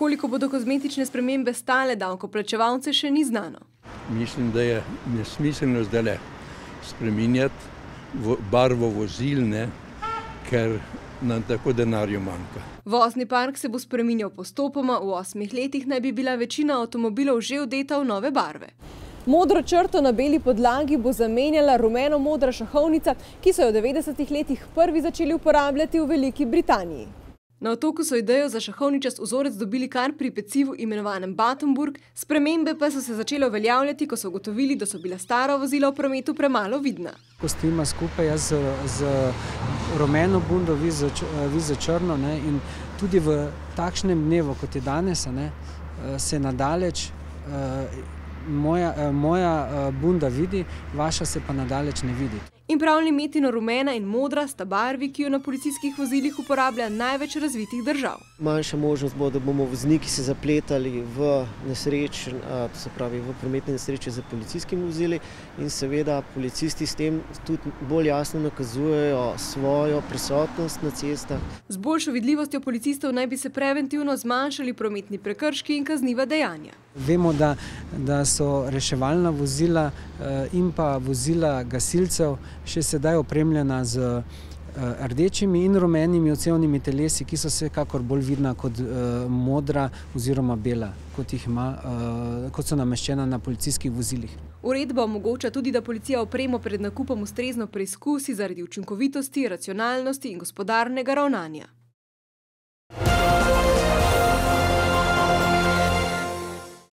Koliko bodo kozmetične spremembe stale davkoplačevalce, še ni znano. Mislim, da je nesmiselno zdaj spreminjati barvo vozil, ker nam tako denarju manjka. Vozni park se bo spreminjal postopoma, v 8 letih naj bi bila večina avtomobilov že odeta v nove barve. Modro črto na beli podlagi bo zamenjala rumeno-modra šahovnica, ki so jo v 90. letih prvi začeli uporabljati v Veliki Britaniji. Na Otoku so idejo za šahovničast vzorec dobili kar pri pecivu imenovanem Battenburg, spremembe pa so se začele uveljavljati, ko so ugotovili, da so bila stara vozila v prometu premalo vidna. Ko stojimo skupaj jaz z rumeno bundo, vi za črno, in tudi v takšnem dnevu, kot je danes, se nadaleč moja bunda vidi, vaša se pa nadaleč ne vidi. In prav limetino rumena in modra sta barvi, ki jo na policijskih vozilih uporablja največ razvitih držav. Manjša možnost bo, da bomo vozniki se zapletali v nesreč, to se pravi v prometne nesreče za policijskimi vozili, in seveda policisti s tem tudi bolj jasno nakazujejo svojo prisotnost na cestah. Z boljšo vidljivostjo policistov naj bi se preventivno zmanjšali prometni prekrški in kazniva dejanja. Vemo, da so reševalna vozila in pa vozila gasilcev še sedaj opremljena z rdečimi in rumenimi odsevnimi telesi, ki so vsekakor bolj vidna kot modra oziroma bela, kot so nameščena na policijskih vozilih. Uredba omogoča tudi, da policija opremo pred nakupom ustrezno preizkusi zaradi učinkovitosti, racionalnosti in gospodarnega ravnanja.